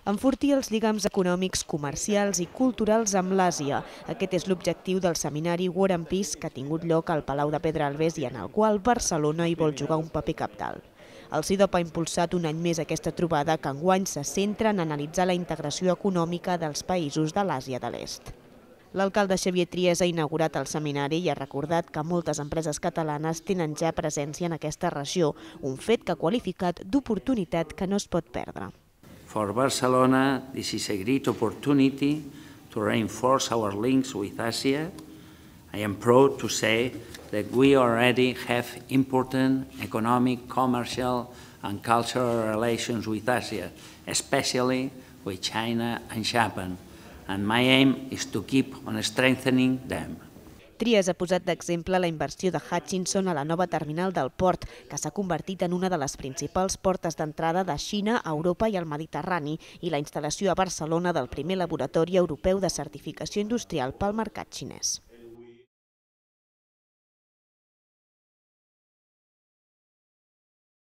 Enfortir els lligams econòmics, comercials i culturals amb l'Àsia. Aquest és l'objectiu del seminari War and Peace que ha tingut lloc al Palau de Pedralbes i en el qual Barcelona hi vol jugar un paper cabdal. El CIDOP ha impulsat un any més aquesta trobada que enguany se centra en analitzar la integració econòmica dels països de l'Àsia de l'Est. L'alcalde Xavier Trias ha inaugurat el seminari i ha recordat que moltes empreses catalanes tenen ja presència en aquesta regió, un fet que ha qualificat d'oportunitat que no es pot perdre. For Barcelona, this is a great opportunity to reinforce our links with Asia. I am proud to say that we already have important economic, commercial and cultural relations with Asia, especially with China and Japan, and my aim is to keep on strengthening them. Trias ha posat d'exemple la inversió de Hutchinson a la nova terminal del port, que s'ha convertit en una de les principals portes d'entrada de Xina a Europa i al Mediterrani, i la instal·lació a Barcelona del primer laboratori europeu de certificació industrial pel mercat xinès.